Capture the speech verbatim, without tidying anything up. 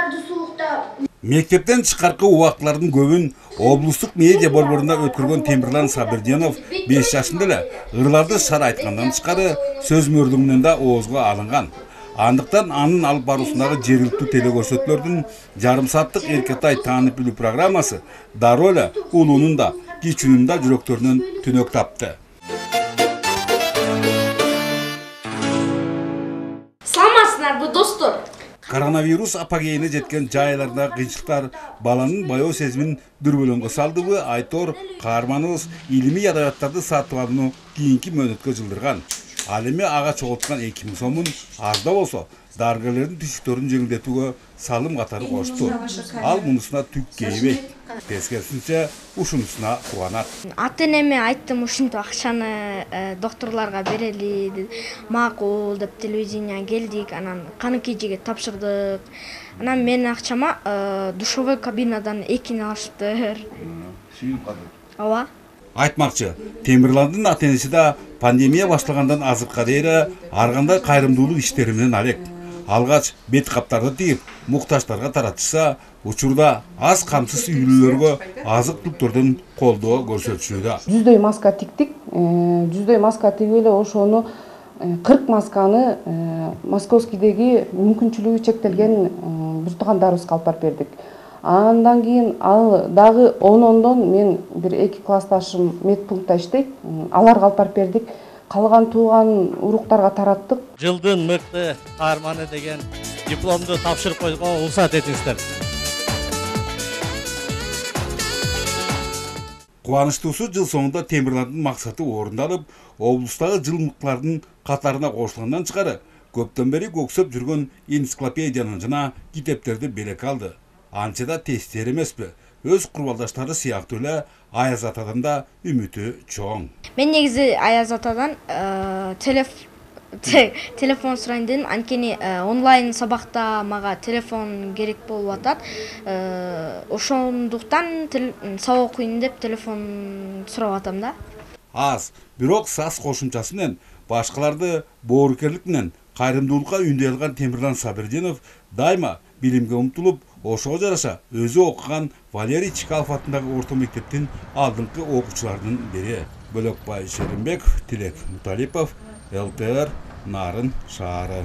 балдарды сулукта. Мектептен чыкаркы убактылардын көбүн облустук медиа борборунда өткөргөн Темирлан Сабирдинов беш жашында эле ырларды шар айткандан тышкары сөз мөрлүгүнөн да оозго алынган. Андыктан анын алып баруусундагы жергиликтүү телекөрсөтүүлөрдүн жарым сааттык Эркетай таанып билүү программасы дароо эле улуунун да кичүүнүн да жүрөктөрүнөн түнөк тапты. Саламатсыздарбы достор? Коронавирус апогейине жеткен жайлардагы кыйынчылыктар баланын баяу сезимин дүрбөлөңгө салдыбы, Айтор каарманыбыз илимий адабияттарды сатып алууну кийинки мөөнөткө жылдырган. Ал эми ага чогулткан эки миң сомун азда болсо дарыгерлердин түшүктөрүн жеңилдетүүгө салым катары кошту. Ал мунусуна түк кейбейт. Тескерисинче ушунусуна кубанат. Ата-энеме айттым, ушинтип акчаны докторлорго берели деп. Макул деп телевидение келдик, анан каныкейжиге тапшырдык. Анан менин акчама душевой кабинадан экини алыштыр. Сүйүп калды. Ооба. Айтмакчы, Темирландын ата-энеси да пандемия башталгандан азыркыга дейин ар кандай кайрымдуулук иштери менен алек. Алгач бет каптарды тигип, муктаждарга таратышса, учурда аз камсыз үйлөргө азык түлүктөрдөн колдоо көрсөтүшүүдө. Жүздөй маска тиктик, жүздөй маска тигип эле ошону кырк масканы Московскийдеги мүмкүнчүлүгү чектелген бир туугандарыбызга алып барып бердик. Андан кийин ал дагы он-ондон мен бир эки классташым медпунктта иштейт. Аларга алып барып бердик. Калган тууган уруктарга тараттык. Жылдын мыкты каарманы деген дипломду тапшырып койгонго уруксат этиңиздер. Кубанычтуусу жыл соңунда Темирландын максаты орундалып, облустагы жыл мыктылардын катарына кошулгандан тышкары көптөн бери көксөп жүргөн энциклопедияны жана китептерди белек алды. Анча да тестер эмеспи. Өз курбалдаштары сыяктуу эле Аяз атадан да үмүтү чоң. Мен негизи Аяз атадан телефон сурайын дедим, анткени онлайн сабакта мага телефон керек болуп атат. Ошондуктан сабак окуйн деп телефон сурап атам да. Аз, бирок сас кошумчасы менен башкаларды боорукерлик менен кайрымдуулукка үндөй алган Темирлан Сабирдинов дайыма билимге умтулуп, ошого жараша өзү окуган Валерий Чкалов атындагы орто мектептин алдыңкы окуучуларынын бири. Бөлөкбай Шеримбеков, Тилек Муталипов, эл тэ эр Нарын шаары.